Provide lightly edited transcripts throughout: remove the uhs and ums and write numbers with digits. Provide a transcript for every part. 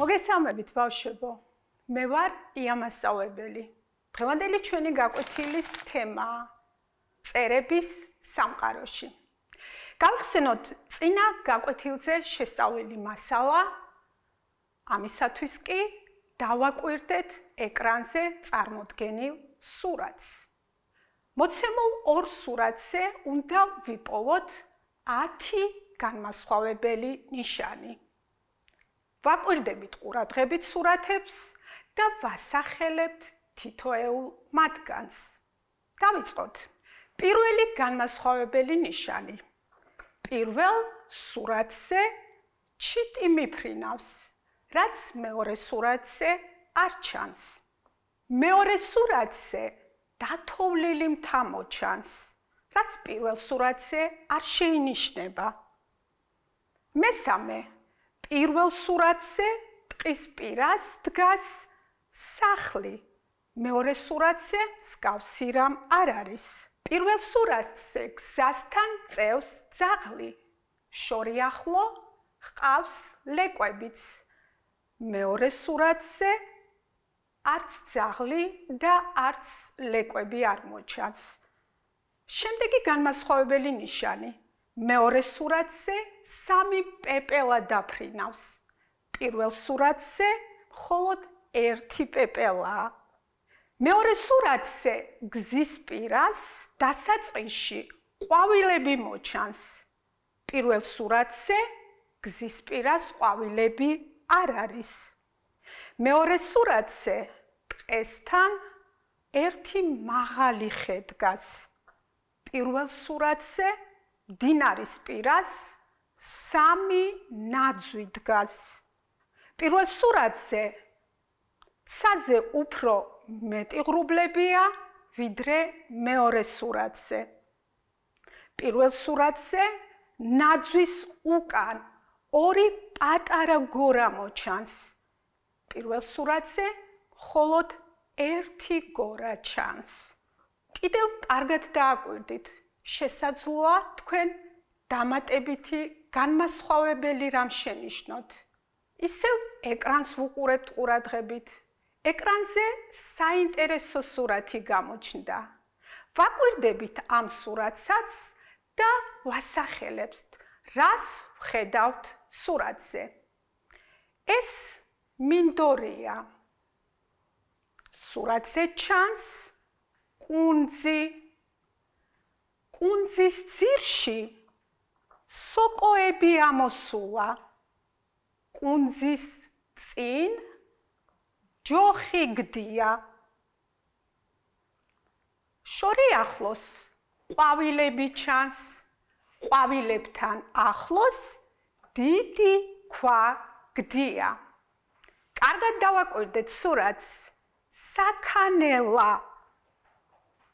მოგესალმებით ბავშვებო. მე ვარ ია მასწავლებელი. დღევანდელი ჩვენი გაკვეთილის თემაა წერების სამყაროში. გავხსენოთ წინა გაკვეთილზე შესწავლილი მასალა, ამისათვის კი დავაკვირდეთ ეკრანზე წარმოდგენილ სურათს. მოცემულ ორ სურათზე უნდა ვიპოვოთ 10 განმასხვავებელი ნიშანი. ვაკვირდებით ყურადღებით სურათებს და ვასახელებთ თითოეულ მათგანს. დავიწყოთ. პირველი განმასხვავებელი ნიშანი. პირველ სურათზე ჩიტი მიფრინავს, რაც მეორე სურათზე არ ჩანს. მეორე სურათზე დათოვლილი მთა მოჩანს, რაც პირველ სურათზე არ შეინიშნება. მესამე. პირველ სურათზე ტყის პირას დგას სახლი. მეორე სურათზე მსგავსი რამ არ არის. პირველ სურათზე გზასთან წევს ძაღლი. შორი ახლო ჰყავს ლეკვებიც. მეორე სურათზე არც ძაღლი და არც ლეკვები არ მოჩანს. შემდეგი განმასხვავებელი ნიშანი. მეორე სურათზე 3 პეპელა დაფრინავს. პირველ სურათზე მხოლოდ 1 პეპელაა. მეორე სურათზე გზის პირას დასაწყისში ყვავილები მოჩანს. პირველ სურათზე გზის პირას ყვავილები არ არის. მეორე სურათზე ტყესთან 1 მაღალი ხე დგას. პირველ სურათზე მდინარის პირას 3 ნაძვი დგას. პირველ სურათზე ცაზე უფრო მეტი ღრუბლებია, ვიდრე მეორე სურათზე. პირველ სურათზე ნაძვის უკან 2 პატარა გორა მოჩანს. პირველ სურათზე მხოლოდ 1 გორა ჩანს. კიდევ კარგად დააკვირდით. შესაძლოა თქვენ დამატებითი განმასხვავებელი რამ შენიშნოთ. ისევ ეკრანს ვუყურებთ ყურადღებით. ეკრანზე საინტერესო სურათი გამოჩნდა. ვაკვირდებით ამ სურათსაც და ვასახელებთ, რას ვხედავთ სურათზე. ეს მინდორია. სურათზე ჩანს კუნძი. კუნძის ძირში სოკოები ამოსულა. კუნძის წინ ჯოხი გდია. შორი ახლოს ყვავილები ჩანს. ყვავილებთან ახლოს დიდი ქვა გდია. კარგად დავაკვირდეთ სურათს. საქანელა.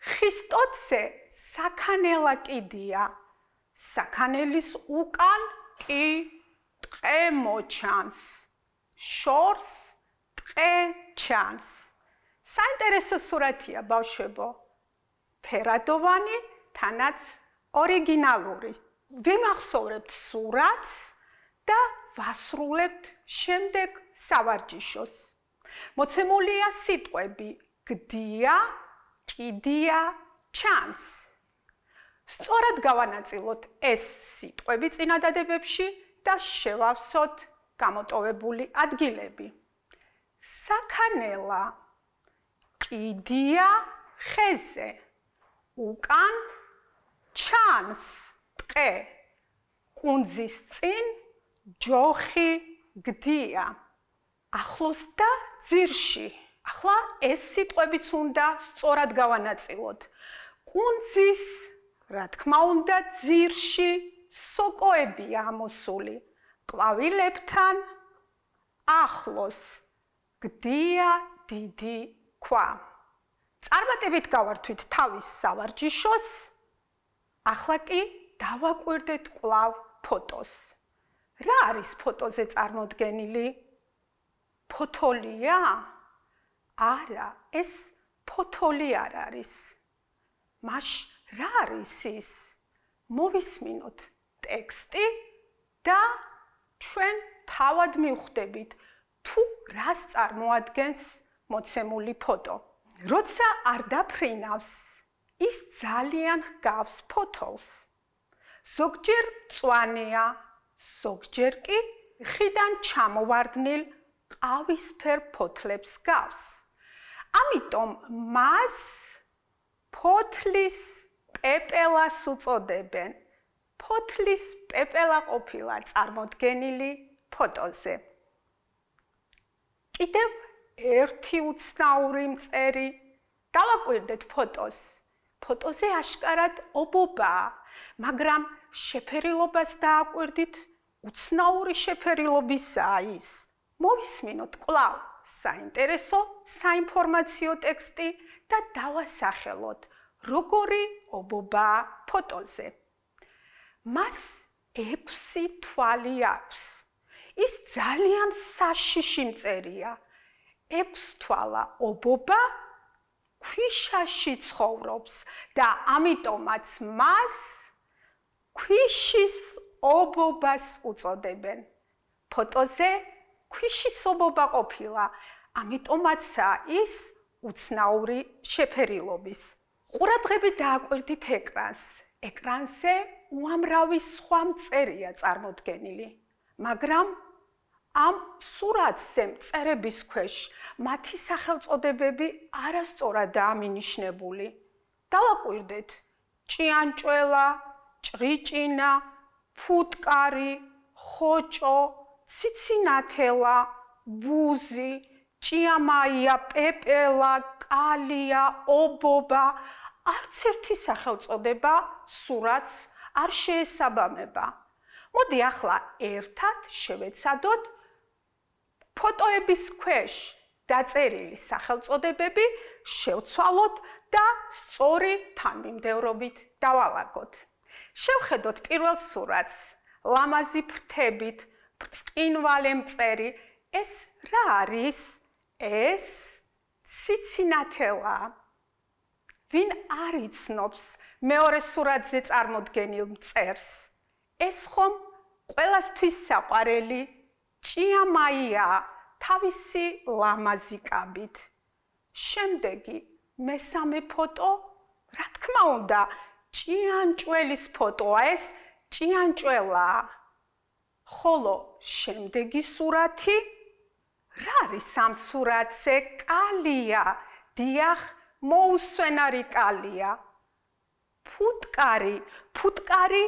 ხის ტოტზე საქანელა კიდია. საქანელის უკან კი ტყე მოჩანს. შორს ტყე ჩანს. საინტერესო სურათია ბავშვებო. ფერადოვანი, თანაც ორიგინალური. ვიმახსოვრებთ სურათს და ვასრულებთ შემდეგ სავარჯიშოს. მოცემულია სიტყვები გდია, კიდია, ჩანს. სწორად გავანაწილოთ ეს სიტყვები წინადადებებში და შევავსოთ გამოტოვებული ადგილები. საქანელა, კიდია ხეზე, უკან ჩანს ტყე, კუნძის წინ ჯოხი გდია. ახლოს და ძირში. ახლა ეს სიტყვებიც უნდა სწორად გავანაწილოთ. კუნძის, რა თქმა უნდა, ძირში სოკოებია ამოსული. ყვავილებთან ახლოს გდია დიდი ქვა. წარმატებით გავართვით თავის სავარჯიშოს. ახლა კი დავაკვირდეთ კვლავ ფოტოს. რა არის ფოტოზე წარმოდგენილი? ფოთოლია? არა, ეს ფოთოლი არ არის. რა არის ის? მოვისმინოთ ტექსტი და ჩვენ თავად მივხვდებით თუ რას წარმოადგენს მოცემული ფოტო. როცა არ დაფრინავს, ის ძალიან ჰგავს ფოთოლს. ზოგჯერ მწვანეა, ზოგჯერ კი ხიდან ჩამოვარდნილ ყავისფერ ფოთლებს გავს. ამიტომ მას ფოთლის პეპელას უწოდებენ. ფოთლის პეპელა ყოფილა წარმოდგენილი ფოტოზე. კიდევ ერთი უცნაური მწერი. დავაკვირდეთ ფოტოს. ფოტოზე აშკარად ობობაა, მაგრამ შეფერილობას დააკვირდით, უცნაური შეფერილობისაა ის. მოვისმინოთ კვლავ საინტერესო საინფორმაციო ტექსტი და დავასახელოთ, როგორი ობობაა ფოტოზე. მას 6 თვალი აქვს. ის ძალიან საშიში მწერია. 6 თვალა ობობა ქვიშაში ცხოვრობს და ამიტომაც მას ქვიშის ობობას უწოდებენ. ფოტოზე ქვიშის ობობა ყოფილა, ამიტომაცაა ის უცნაური შეფერილობის. ყურადღებით დააკვირდით ეკრანს. ეკრანზე უამრავი სხვა მწერია წარმოდგენილი, მაგრამ ამ სურათზე მწერების ქვეშ მათი სახელწოდებები არასწორადაა მინიშნებული. დავაკვირდეთ ჭიანჭველა, ჭრიჭინა, ფუტკარი, ხოჭო, ციცინათელა, ბუზი, ჭიამაია, პეპელა, კალია, ობობა. არც ერთი სახელწოდება სურათს არ შეესაბამება. მოდი ახლა ერთად შევეცადოთ ფოტოების ქვეშ დაწერილი სახელწოდებები შევცვალოთ და სწორი თანმიმდევრობით დავალაგოთ. შევხედოთ პირველ სურათს. ლამაზი ფრთებით, ბრწყინვალე მწერი. ეს რა არის? ეს ციცინათელაა. ვინ არ იცნობს მეორე სურათზე წარმოდგენილ მწერს? ეს ხომ ყველასთვის საყვარელი ჭიამაია თავისი ლამაზი კაბით. შემდეგი მესამე ფოტო, რა თქმა უნდა, ჭიანჭველის ფოტოა, ეს ჭიანჭველაა. ხოლო შემდეგი სურათი, რა არის ამ სურათზე? კალია, დიახ, მოუსვენარი კალია. ფუტკარი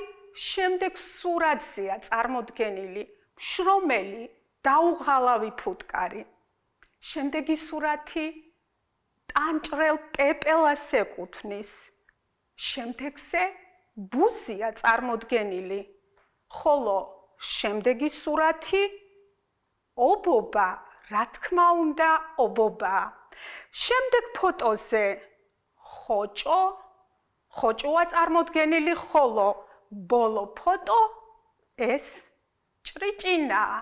შემდეგ სურათზეა წარმოდგენილი, შრომელი, დაუღალავი ფუტკარი. შემდეგი სურათი ტანჭრელ პეპელას ეკუთვნის. შემდეგზე ბუზია წარმოდგენილი, ხოლო შემდეგი სურათი ობობა, რა თქმა უნდა, ობობაა. შემდეგ ფოტოზე ხოჭოა წარმოდგენილი, ხოლო ბოლო ფოტო ეს ჭრიჭინაა,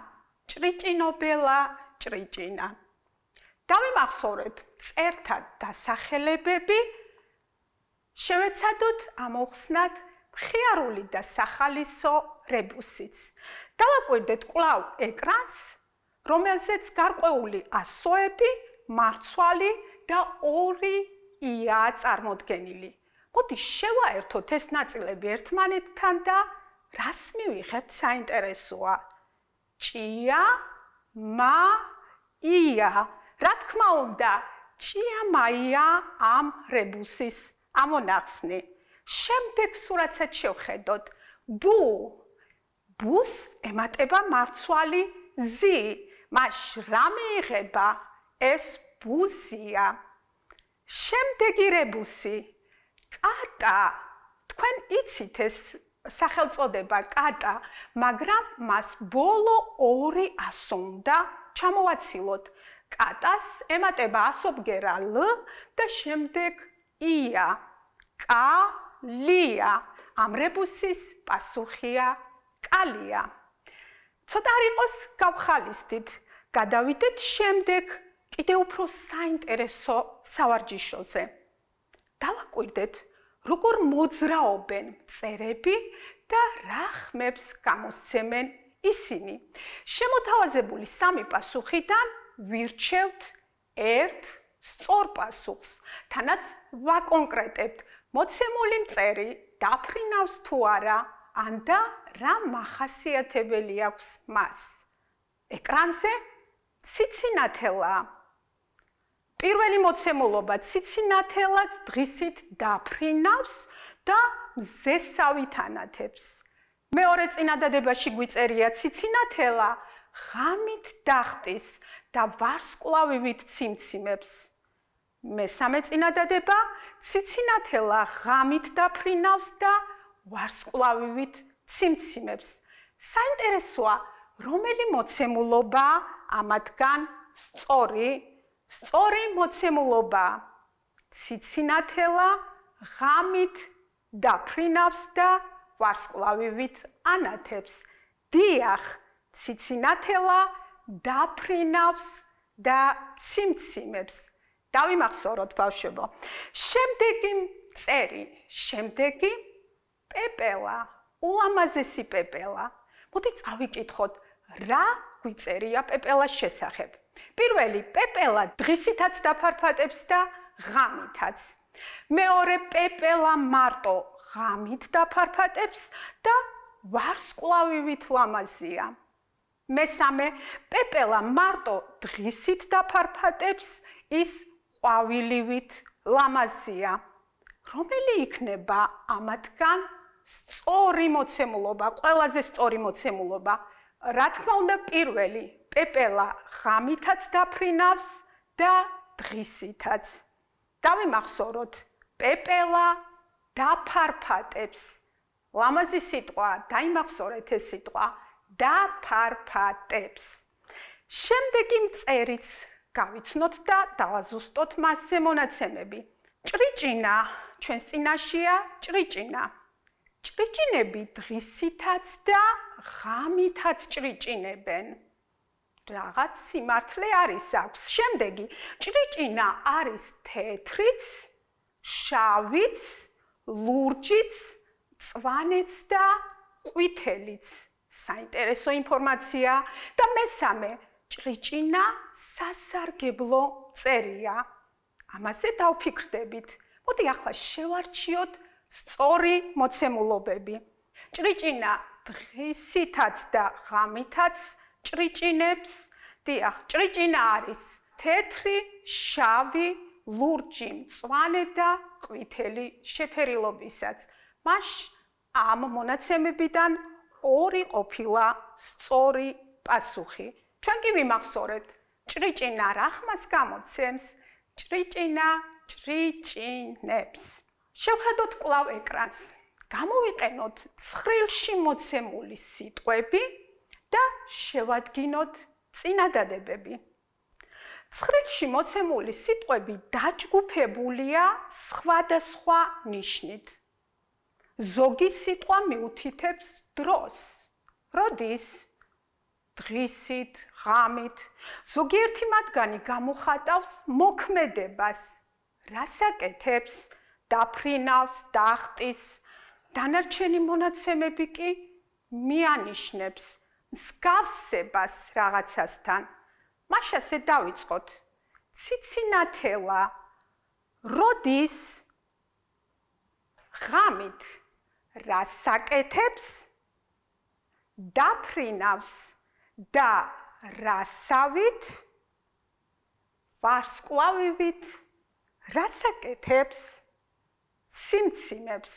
ჭრიჭინობელა ჭრიჭინა. დავიმახსოვრეთ წერთა დასახელებები, შევეცადოთ ამოვხსნათ მხიარული და სახალისო რებუსიც. დავაკვირდეთ კვლავ ეკრანს, რომელზეც გარკვეული ასოები, მარცვალი და 2 იაა წარმოდგენილი. მოდი შევაერთოთ ეს ნაწილები ერთმანეთთან და რას მივიღებთ საინტერესოა? ჭია, მა, ია. რა თქმა უნდა, ჭიამაია ამ რებუსის ამონახსნი. შემდეგ სურათსაც შევხედოთ. ბუს ემატება მარცვალი ზი. მას რა მიიღება? ეს ბუზია. შემდეგი რებუსი. კატა. თქვენ იცით ეს სახელწოდება კატა, მაგრამ მას ბოლო 2 ასო უნდა ჩამოვაცილოთ. კატას ემატება ასობგერა ლ და შემდეგ ია. კალია. ამ რებუსის პასუხია კალია. ცოტა არ იყოს გავხალისდით. გადავიდეთ შემდეგ კიდევ უფრო საინტერესო სავარჯიშოზე. დავაკვირდეთ, როგორ მოძრაობენ მწერები და რა ხმებს გამოსცემენ ისინი. შემოთავაზებული სამი პასუხიდან ვირჩევთ ერთ სწორ პასუხს, თანაც ვაკონკრეტებთ მოცემული მწერი დაფრინავს თუ არა, ან და რა მახასიათებელი აქვს მას. ეკრანზე ციცინათელა. პირველი მოცემულობა ციცინათელად დღისით დაფრინავს და მზესავით ანათებს. მეორე წინადადებაში გვიწერია ციცინათელა ღამით დახტის და ვარსკვლავივით ციმციმებს. მესამე წინადადება ციცინათელა ღამით დაფრინავს და ვარსკვლავივით ციმციმებს. საინტერესოა, რომელი მოცემულობა ამათგან სწორი მოცემულობა. ციცინათელა ღამით დაფრინავს და ვარსკვლავივით ანათებს. დიახ, ციცინათელა დაფრინავს და ციმციმებს. დავიმახსოვროთ ბავშვებო. შემდეგი პეპელა, ულამაზესი პეპელა. მოდი წავიკითხოთ, რა გვიწერია პეპელას შესახებ. პირველი, პეპელა დღისითაც დაფარფატებს და ღამითაც. მეორე, პეპელა მარტო ღამით დაფარფატებს და ვარსკვლავივით ლამაზია. მესამე, პეპელა მარტო დღისით დაფარფატებს, ის ყვავილივით ლამაზია. რომელი იქნება ამათგან სწორი მოცემულობა, ყველაზე სწორი მოცემულობა? რა თქმა უნდა, პირველი, პეპელა ღამითაც დაფრინავს და დღისითაც. დავიმახსოვროთ, პეპელა დაფარფატებს. ლამაზი სიტყვა, დაიმახსოვრეთ ეს სიტყვა, დაფარფატებს. შემდეგი მწერიც გავიცნოთ და დავაზუსტოთ მასზე მონაცემები. ჭრიჭინა, ჩვენს წინაშეა ჭრიჭინა. ჭრიჭინები დღისითაც და ღამითაც ჭრიჭინებენ. რაღაც სიმართლე არის აქვს. შემდეგი, ჭრიჭინა არის თეთრიც, შავიც, ლურჯიც, მწვანეც და ყვითელიც. საინტერესო ინფორმაცია. და მესამე, ჭრიჭინა სასარგებლო მწერია. ამაზე დავფიქრდებით. მოდი ახლა შევარჩიოთ სწორი მოცემულობები. ჭრიჭინა დღისითაც და ღამითაც ჭრიჭინებს. დიახ, ჭრიჭინა არის თეთრი, შავი, ლურჯი, მწვანე და ყვითელი შეფერილობისაც. მას ამ მონაცემებიდან ორი ყოფილა სწორი პასუხი. ჩვენ კი ვიმახსოვრეთ, ჭრიჭინა რა ხმას გამოცემს? ჭრიჭინა ჭრიჭინებს. შევხედოთ კვლავ ეკრანს. გამოვიყენოთ ცხრილში მოცემული სიტყვები და შევადგინოთ წინადადებები. ცხრილში მოცემული სიტყვები დაჯგუფებულია სხვადასხვა ნიშნით. ზოგი სიტყვა მიუთითებს დროს. როდის? დღისით, ღამით. ზოგიერთი მათგანი გამოხატავს მოქმედებას. რას აკეთებს? დაფრინავს, დახტის. დანარჩენი მონაცემები კი მიანიშნებს მსგავსებას რაღაცასთან. მაშ ასე დავიწყოთ. ციცინათელა როდის? ღამით. რას აკეთებს? დაფრინავს და რასავით? ვარსკვლავივით. რას აკეთებს? ციმციმებს.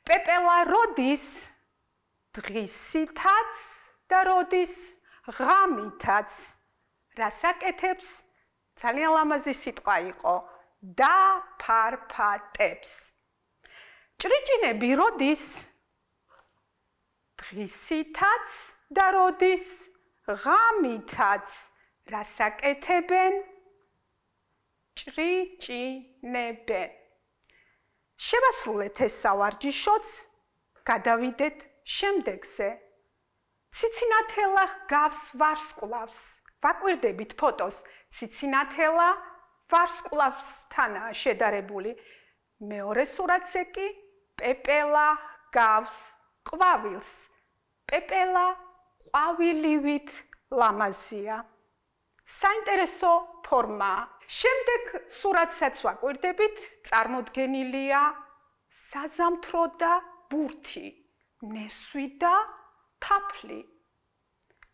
პეპელა როდის? დღისითაც და როდის? ღამითაც. რას აკეთებს? ძალიან ლამაზი სიტყვა იყო. დაფარფატებს. ჭრიჭინები როდის? დღისითაც და როდის? ღამითაც. რას აკეთებენ? ჭრიჭინებენ. შევასრულეთ ეს სავარჯიშოც, გადავიდეთ შემდეგზე. ციცინათელა გავს ვარსკვლავს. ვაკვირდებით ფოტოს. ციცინათელა ვარსკვლავსთანაა შედარებული. მეორე სურათზე კი პეპელა გავს ყვავილს. პეპელა ყვავილივით ლამაზია. საინტერესო ფორმაა. შემდეგ სურათსაც ვაკვირდებით, წარმოდგენილია საზამთრო და ბურთი, ნესვი და თაფლი.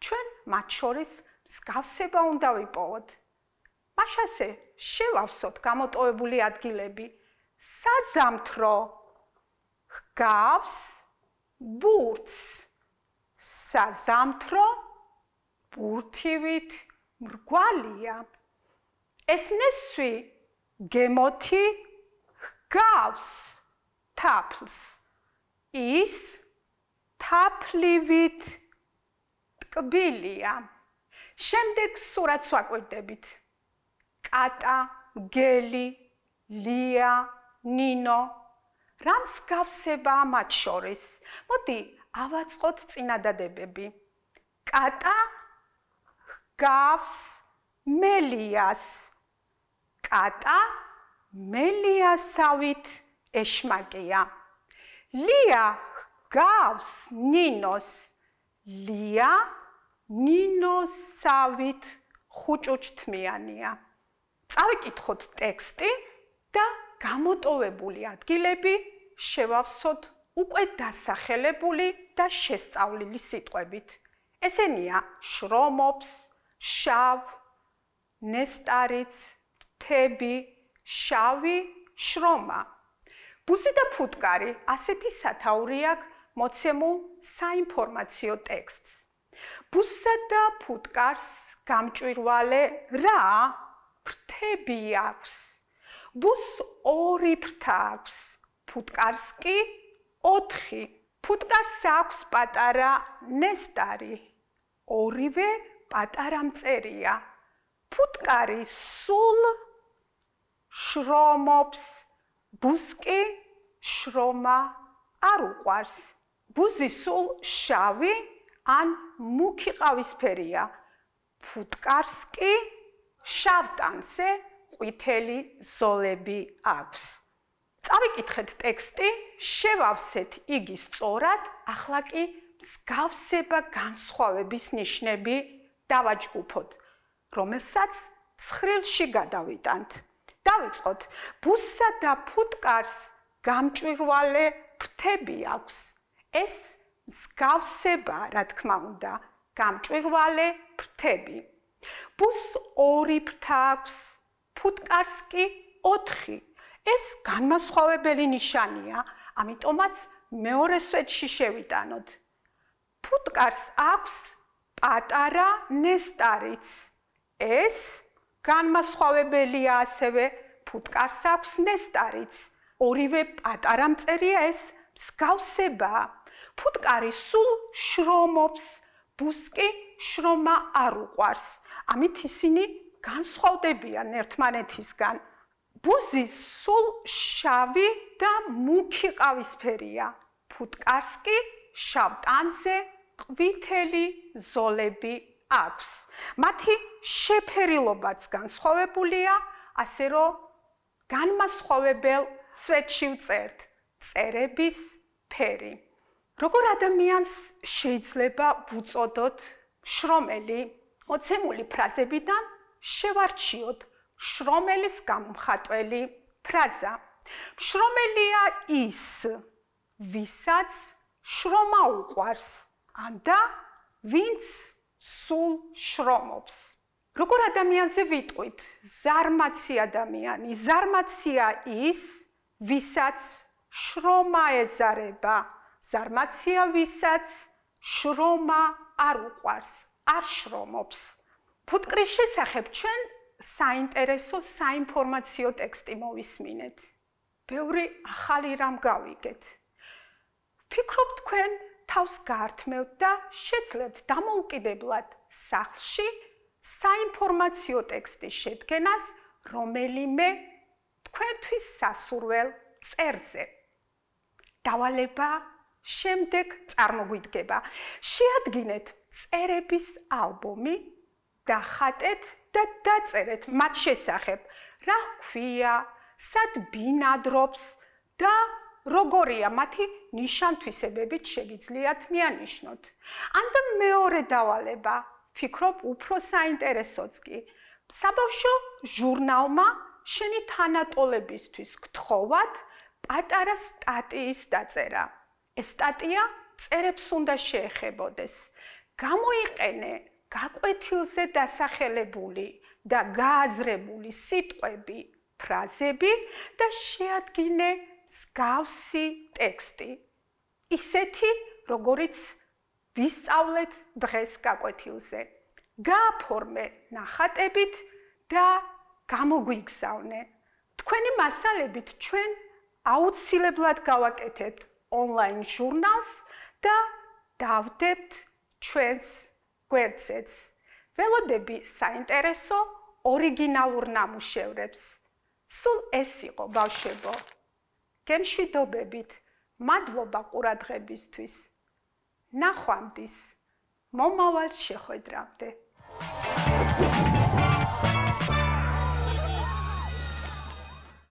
ჩვენ მათ შორის მსგავსება უნდა ვიპოვოთ. მაშასე შევავსოთ გამოტოვებული ადგილები. საზამთრო ჰგავს ბურთს. საზამთრო ბურთივით მრგვალია. ეს ნესვი გემოთი ჰგავს თაფლს. ის თაფლივით ტკბილია. შემდეგ სურათს ვაკვირდებით. კატა, გელი, ლია, ნინო. რა მსგავსებაა მათ შორის? მოდი ავაწყოთ წინადადებები. კატა ჰგავს მელიას. კატა მელიასავით ეშმაკია. ლია ჰგავს ნინოს. ლია ნინოსავით ხუჭუჭთმიანია. წავიკითხოთ ტექსტი და გამოტოვებული ადგილები შევავსოთ უკვე დასახელებული და შესწავლილი სიტყვებით. ესენია შრომობს, შავ, ნესტარიც, თები, შავი, შრომა. ბუზი და ფუტკარი ასეთი სათაური აქვს მოცემულ საინფორმაციო ტექსტს. ბუსსა და ფუტკარს გამჭვირვალე რა ფრთები აქვს. ბუსს 2 ფრთა აქვს, ფუტკარს კი 4. ფუტკარს აქვს პატარა ნესტარი. ორივე პატარა მწერია. ფუტკარი სულ შრომობს, ბუსს კი შრომა არ უყვარს. ბუზი სულ შავი ან მუქი ყავისფერია. ფუტკარს კი შავტანზე ყვითელი ზოლები აქვს. წავიკითხეთ ტექსტი, შევავსეთ იგი სწორად, ახლა კი მსგავსება განსხვავების ნიშნები დავაჯგუფოთ, რომელსაც ცხრილში გადავიტანთ. დავიწყოთ. ბუსსა და ფუტკარს გამჭვირვალე ფრთები აქვს. ეს მსგავსება, რა თქმა უნდა, გამჭვირვალე ფრთები. ბუსს 2 ფრთა აქვს, ფუტკარს კი 4. ეს განმასხვავებელი ნიშანია, ამიტომაც მეორე სვეტში შევიტანოთ. ფუტკარს აქვს პატარა ნესტარიც. ეს განმასხვავებელია ასევე, ფუტკარს აქვს ნესტარიც. ორივე პატარა მწერია, ეს მსგავსებაა. ფუტკარი სულ შრომობს, ბუსს კი შრომა არ უყვარს. ამით ისინი განსხვავდებიან ერთმანეთისგან. ბუზი სულ შავი და მუქი ყავისფერია. ფუტკარს კი შავტანზე ყვითელი ზოლები აქვს. მათი შეფერილობაც განსხვავებულია, ასე რომ განმასხვავებელ სვეტში ვწერთ წერების ფერი. როგორ ადამიანს შეიძლება ვუწოდოთ შრომელი? მოცემული ფრაზებიდან შევარჩიოთ შრომელის გამომხატველი ფრაზა. შრომელია ის, ვისაც შრომა უყვარს, და ვინც სულ შრომობს. როგორ ადამიანზე ვიტყვით? ზარმაცი ადამიანი. ზარმაცია ის, ვისაც შრომა ეზარება. ზარმაცია ვისაც შრომა არ უყვარს, არ შრომობს. ფუტკრის შესახებ ჩვენ საინტერესო საინფორმაციო ტექსტი მოვისმინეთ. ბევრი ახალი რამ გავიგეთ. ვფიქრობ თქვენ თავს გაართმევთ და შეძლებთ დამოუკიდებლად სახლში საინფორმაციო ტექსტის შედგენას რომელიმე თქვენთვის სასურველ წერზე. დავალება შემდეგ წარმოგვიდგება. შეადგინეთ წერების ალბომი, დახატეთ და დაწერეთ მათ შესახებ, რა ჰქვია, სად ბინადრობს და როგორია მათი ნიშან-თვისებებით შეგიძლიათ მიანიშნოთ. ან და მეორე დავალება, ფიქრობ უფრო საინტერესოც კი. საბავშვო ჟურნალმა შენი თანატოლებისთვის გთხოვად პატარა სტატიის დაწერა. ეს სტატია წერებს უნდა შეეხებოდეს. გამოიყენე გაკვეთილზე დასახელებული და გააზრებული სიტყვები, ფრაზები და შეადგინე მსგავსი ტექსტი. ისეთი, როგორიც ვისწავლეთ დღეს გაკვეთილზე. გააფორმე ნახატებით და გამოგვიგზავნე. თქვენი მასალებით ჩვენ აუცილებლად გავაკეთებთ ონლაინ ჟურნალს და დავდებთ ჩვენს გვერდზეც. ველოდები საინტერესო ორიგინალურ ნამუშევრებს. სულ ეს იყო ბავშვებო. გემშვიდობებით, მადლობა ყურადღებისთვის. ნახვამდის, მომავალ შეხვედრამდე.